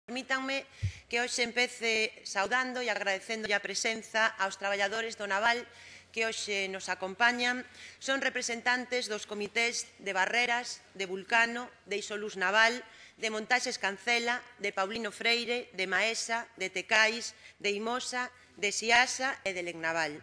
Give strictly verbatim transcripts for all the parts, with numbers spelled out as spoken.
Permítanme que hoxe empece saudando e agradecendo a presenza aos traballadores do Naval que hoxe nos acompañan. Son representantes dos comités de Barreras, de Vulcano, de Isolús Naval, de Montaxes Cancela, de Paulino Freire, de Maesa, de Tecais, de Imosa, de Siasa e de Lecnaval.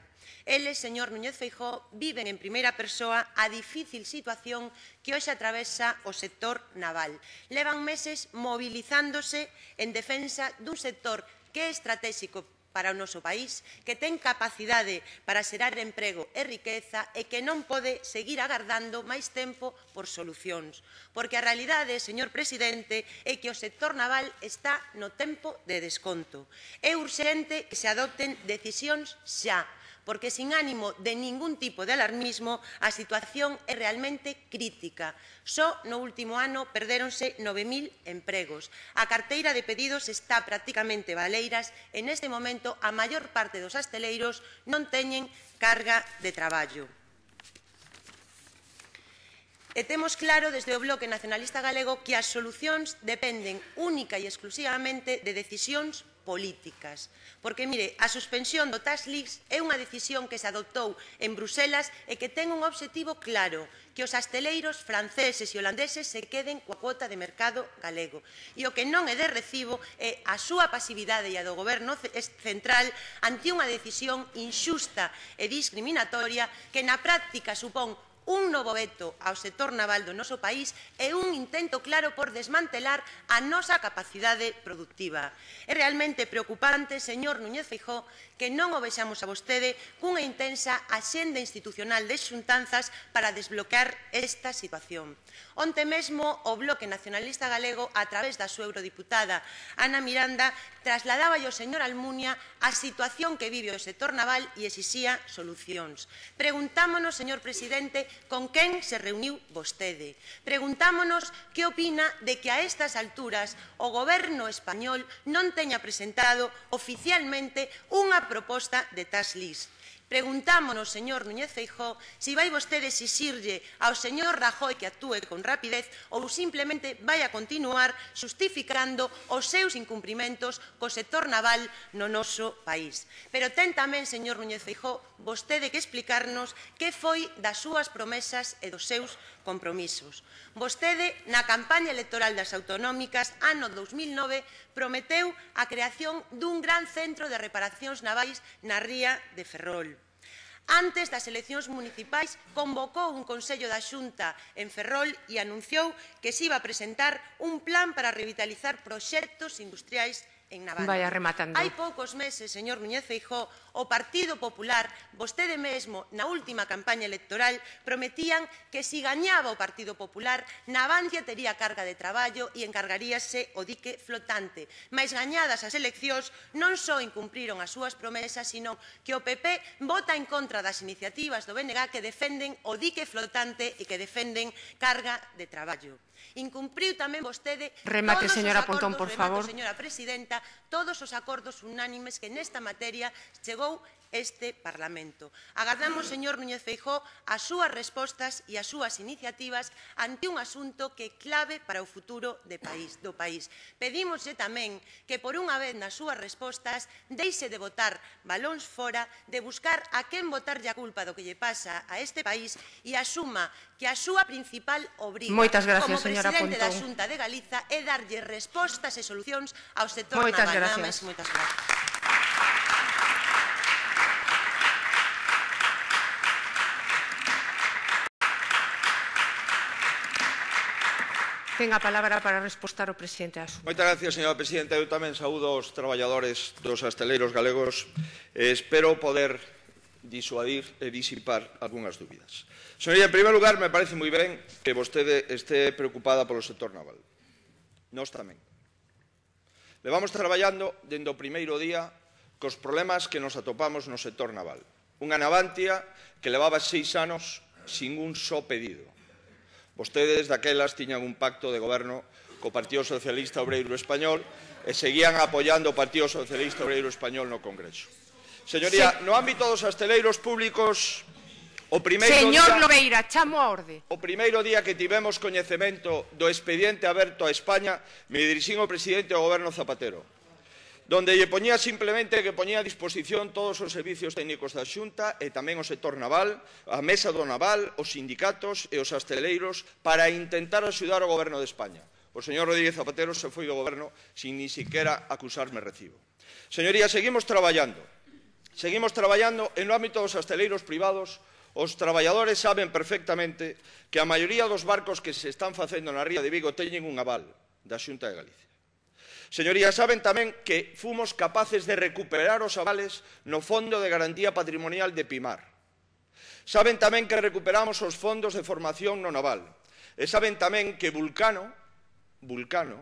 Eles, señor Núñez Feijóo, viven en primeira persoa a difícil situación que hoxe atravesa o sector naval. Levan meses movilizándose en defensa dun sector que é estratégico para o noso país, que ten capacidade para xerar emprego e riqueza e que non pode seguir agardando máis tempo por solucións. Porque a realidade, señor presidente, é que o sector naval está no tempo de desconto. É urxente que se adopten decisións xa, porque sin ánimo de ningún tipo de alarmismo a situación é realmente crítica. Só no último ano perdéronse nove mil empregos. A carteira de pedidos está prácticamente baleiras e neste momento a maior parte dos hostaleiros non teñen carga de traballo. E temos claro desde o Bloque Nacionalista Galego que as solucións dependen única e exclusivamente de decisións políticas. Porque, mire, a suspensión do Tax Lease é unha decisión que se adoptou en Bruselas e que ten un obxectivo claro, que os hostaleiros franceses e holandeses se queden coa cuota de mercado galego. E o que non é de recibo é a súa pasividade e a do Goberno central ante unha decisión inxusta e discriminatoria que na práctica supón un novo veto ao sector naval do noso país e un intento claro por desmantelar a nosa capacidade productiva. É realmente preocupante, señor Núñez Feijóo, que non o vexamos a vostede cunha intensa axenda institucional de xuntanzas para desbloquear esta situación. Onte mesmo o Bloque Nacionalista Galego, a través da súa eurodiputada Ana Miranda, trasladaba ao señor Almunia a situación que vive o sector naval e exixía solucións. Preguntámonos, señor presidente, con quen se reuniu vostede. Preguntámonos que opina de que a estas alturas o Goberno español non teña presentado oficialmente unha proposta de Tax Lease. Preguntámonos, señor Núñez Feijóo, se vai vostede exixirlle ao señor Rajoy que actúe con rapidez ou simplemente vai a continuar xustificando os seus incumprimentos co sector naval no noso país. Pero ten tamén, señor Núñez Feijóo, vostede que explicarnos que foi das súas promesas e dos seus compromisos. Vostede, na campaña electoral das autonómicas, ano dos mil nove, prometeu a creación dun gran centro de reparacións navais na ría de Ferrol. Antes das eleccións municipais, convocou un Consello da Xunta en Ferrol e anunciou que se iba a presentar un plan para revitalizar proxectos industriais en Navarra. Vaya rematando. Hai poucos meses, señor Núñez Feijóo, o Partido Popular, vostede mesmo, na última campaña electoral, prometían que se gañaba o Partido Popular, Navantia tería carga de traballo e encargaríase o dique flotante. Mais gañadas as eleccións, non só incumpriron as súas promesas, sino que o P P vota en contra das iniciativas do B N G que defenden o dique flotante e que defenden carga de traballo. Incumpriu tamén vostede Remate, todos señora os acordos, Pontón, por favor. remato, señora presidenta, todos os acordos unánimes que nesta materia chegou este Parlamento. Agardamos, señor Núñez Feijóo, as súas respostas e as súas iniciativas ante un asunto que é clave para o futuro de país, do país. Pedímoslle tamén que, por unha vez nas súas respostas, deixe de botar balóns fora, de buscar a quen botarlle a culpa do que lle pasa a este país e asuma que a súa principal obriga como presidente da Xunta de Galiza é darlle respostas e solucións ao sector naval. Nada máis, moitas gracias. Ten a palabra para respostar o presidente Asunto. Moitas gracias, señora presidenta. Eu tamén saúdo aos traballadores dos hostaleiros galegos e espero poder disuadir e disipar algunhas dúbidas. Señoría, en primer lugar, me parece moi ben que vostede este preocupada polo sector naval. Nós tamén. Levamos traballando dende o primeiro día cos problemas que nos atopamos no sector naval. Unha Navantia que levaba seis anos sin un só pedido. Vostedes daquelas tiñan un pacto de goberno co Partido Socialista Obreiro Español e seguían apoiando o Partido Socialista Obreiro Español no Congreso. Señoría, no ámbito dos hostaleiros públicos, O primeiro Señor día, Lobeira, chamo a orde. o primeiro día que tivemos coñecemento do expediente aberto a España, me dirixín ao presidente do goberno Zapatero, donde lle poñía simplemente que poñía a disposición todos os servicios técnicos da Xunta e tamén o sector naval, a mesa do naval, os sindicatos e os asteleiros para intentar axudar o goberno de España. O señor Rodríguez Zapatero se foi do goberno sin ni siquiera acusarme recibo. Señorías, seguimos traballando. Seguimos traballando en no ámbito dos asteleiros privados. Os traballadores saben perfectamente que a maioría dos barcos que se están facendo na ría de Vigo teñen un aval da Xunta de Galicia. Señorías, saben tamén que fomos capaces de recuperar os avales no Fondo de Garantía Patrimonial de Pimar. Saben tamén que recuperamos os fondos de formación no naval. E saben tamén que Vulcano, Vulcano,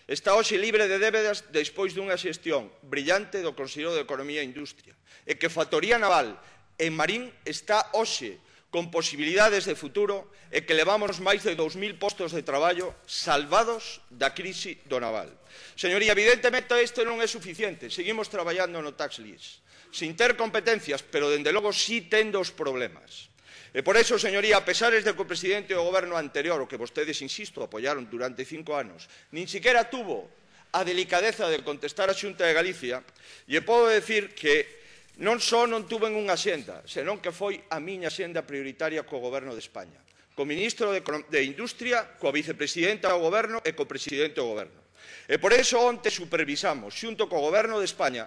está hoxe libre de débedas despois dunha xestión brillante do Consello de Economía e Industria, e que Factoría Naval en Marín está hoxe con posibilidades de futuro e que levamos máis de dous mil postos de traballo salvados da crise do naval. Señoría, evidentemente isto non é suficiente. Seguimos traballando no tax list, sin ter competencias, pero dende logo sí tendo os problemas. E por eso, señoría, a pesares de que o presidente do goberno anterior, o que vostedes, insisto, apoyaron durante cinco anos, nin siquiera tuvo a delicadeza de contestar a Xunta de Galicia, lle podo decir que non só non tuven unha xenda, senón que foi a miña xenda prioritaria co goberno de España, co ministro de, de Industria, coa vicepresidenta do goberno e co presidente do goberno. E por eso onte supervisamos, xunto co goberno de España,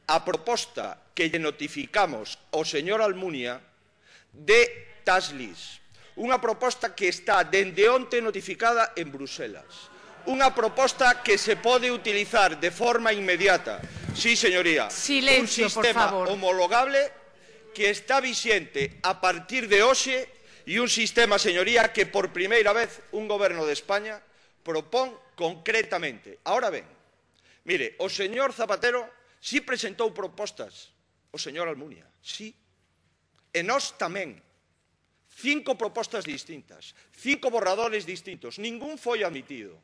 a proposta que lle notificamos ao señor Almunia de tax list, unha proposta que está dende onte notificada en Bruselas, unha proposta que se pode utilizar de forma inmediata. Sí, señoría, Silencio, un sistema por favor. homologable que está vixente a partir de hoxe e un sistema, señoría, que por primeira vez un goberno de España propón concretamente. Ahora ben, mire, o señor Zapatero sí presentou propostas, o señor Almunia, sí, e nós tamén. Cinco propostas distintas, cinco borradores distintos, ningún foi admitido.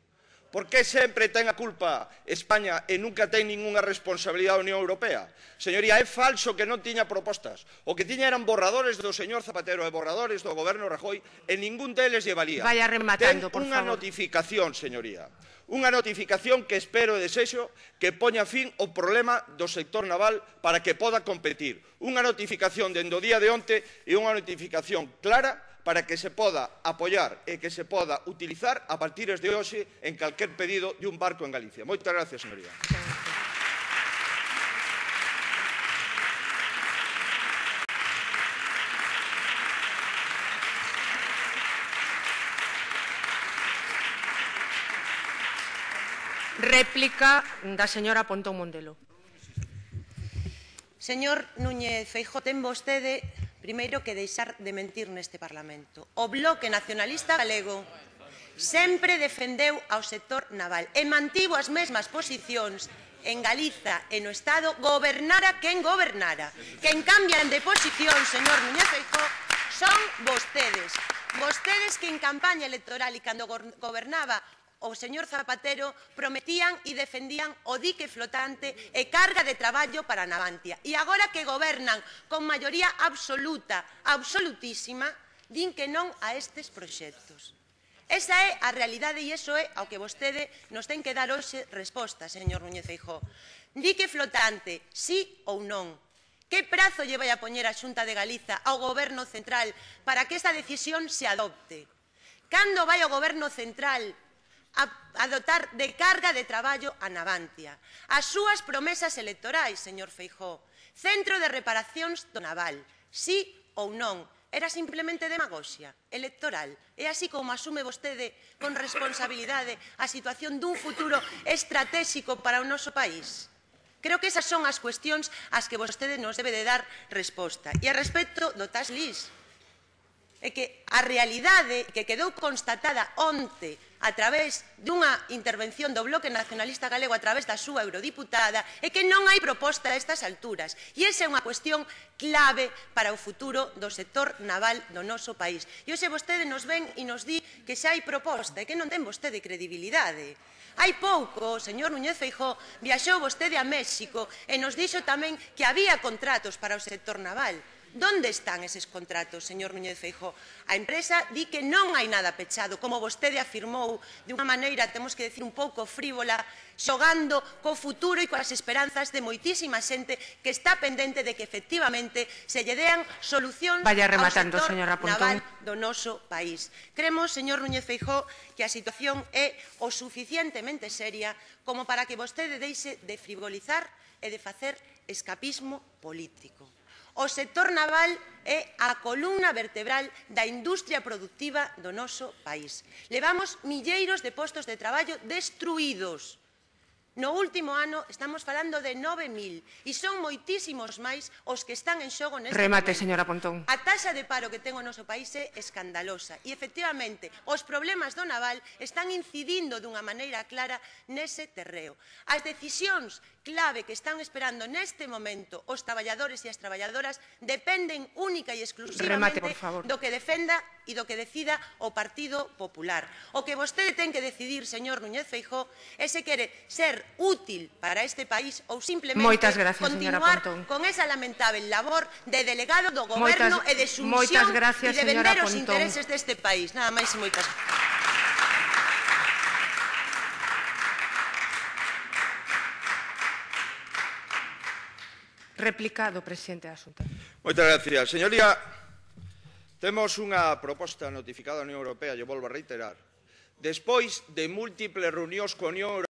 Por que sempre ten a culpa España e nunca ten ningunha responsabilidade a Unión Europea? Señoría, é falso que non tiña propostas. O que tiña eran borradores do señor Zapatero e borradores do goberno Rajoy e ningún deles lle valía. Vaya rematando, ten por unha favor. notificación, señoría. Unha notificación que espero e desexo que poña fin ao problema do sector naval para que poda competir. Unha notificación dende o día de onte e unha notificación clara para que se poda apoiar e que se poda utilizar a partir de hoxe en calquer pedido de un barco en Galicia. Moitas gracias, señoría. Réplica da señora Pontón Mondelo. Señor Núñez Feijóo, ten vostede primeiro que deixar de mentir neste Parlamento. O Bloque Nacionalista Galego sempre defendeu ao sector naval e mantivo as mesmas posicións en Galiza e no Estado, gobernara quen gobernara. Quen cambian de posición, señor Núñez Feijóo, son vostedes. Vostedes que en campaña electoral e cando gobernaba o señor Zapatero prometían e defendían o dique flotante e carga de traballo para Navantia. E agora que gobernan con maioría absoluta, absolutísima, din que non a estes proxectos. Esa é a realidade e iso é ao que vostede nos ten que dar hoxe resposta, señor Núñez Feijóo. Dique flotante, sí ou non? Que prazo lle vai a poñer a Xunta de Galiza ao Goberno Central para que esta decisión se adopte? Cando vai o Goberno Central a dotar de carga de traballo a Navantia? As súas promesas electorais, señor Feijóo. Centro de reparacións do naval, sí ou non? Era simplemente demagoxia electoral. É así como asume vostede con responsabilidade a situación dun futuro estratégico para o noso país? Creo que esas son as cuestións ás que vostede nos debe de dar resposta. E a respecto do tax list, é que a realidade que quedou constatada onte a través dunha intervención do Bloque Nacionalista Galego a través da súa eurodiputada é que non hai proposta a estas alturas. E esa é unha cuestión clave para o futuro do sector naval do noso país. E hoxe vostede nos ven e nos di que xa hai proposta e que non ten vostede credibilidade. Hai pouco, o señor Núñez Feijóo viaxou vostede a México e nos dixo tamén que había contratos para o sector naval. Donde están eses contratos, señor Núñez Feijóo? A empresa di que non hai nada pechado, como vostede afirmou de unha maneira, temos que decir, un pouco frívola, xogando co futuro e coas esperanzas de moitísima xente que está pendente de que efectivamente se lle dean solucións Vaya ao rematando, sector señora naval Pontón. do noso país. Cremos, señor Núñez Feijóo, que a situación é o suficientemente seria como para que vostede deixe de frivolizar e de facer escapismo político. O sector naval é a columna vertebral da industria productiva do noso país. Levamos milleiros de postos de traballo destruídos. No último ano estamos falando de nove mil e son moitísimos máis os que están en xogo neste Remate, momento. señora Pontón. A taxa de paro que ten o noso país é escandalosa e, efectivamente, os problemas do naval están incidindo dunha maneira clara nese terreo. As decisións clave que están esperando neste momento os traballadores e as traballadoras dependen única e exclusivamente Remate, por favor. do que defenda e do que decida o Partido Popular. O que vostede ten que decidir, señor Núñez Feijóo, é se quere ser útil para este país ou simplemente Moitas gracias, continuar señora Pontón. con esa lamentable labor de delegado do Goberno Moitas- e de moitas sumisión gracias, e de señora vender os Pontón. intereses deste país. Nada máis e moitas gracias. Replicado, presidente da Xunta. Moitas gracias. Señoría, temos unha proposta notificada á Unión Europea, lle volvo a reiterar, despois de múltiples reunións coa Unión Europea,